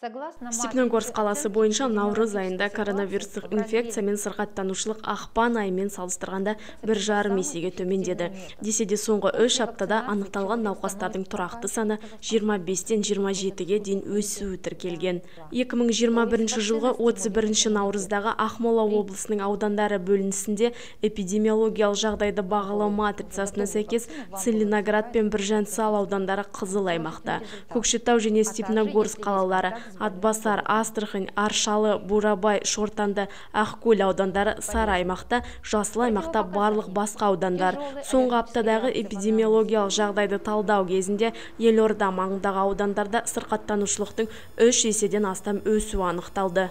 Степногорск қаласы бойынша наурыз айында коронавирустық инфекция мен сырқаттанушылық ақпан айымен салыстырғанда 1,5 есеге төмендеді. Десе де соңғы 3 аптада анықталған науқастардың тұрақты саны 25-тен 27-ге дейін өсуі тіркелген. 2021 жылғы 31 наурыздағы Ақмола облысының аудандары бөлінісінде эпидемиологиялық жағдайды бағалау матрицасына сәйкес Целиноград пен Біржан Сал аудандары қызыл аймақта. Көкшетау және Степногорск қалалары, Атбасар, Астрахань, Аршалы, Бурабай, Шортанды, Ақкөл аудандары сары аймақта, жасыл аймақта барлық басқа аудандар. Соңғы аптадағы эпидемиологиялық жағдайды талдау кезінде елорда маңындағы аудандарда сырқаттанушылықтың 3 еседен астам өсуі анықталды.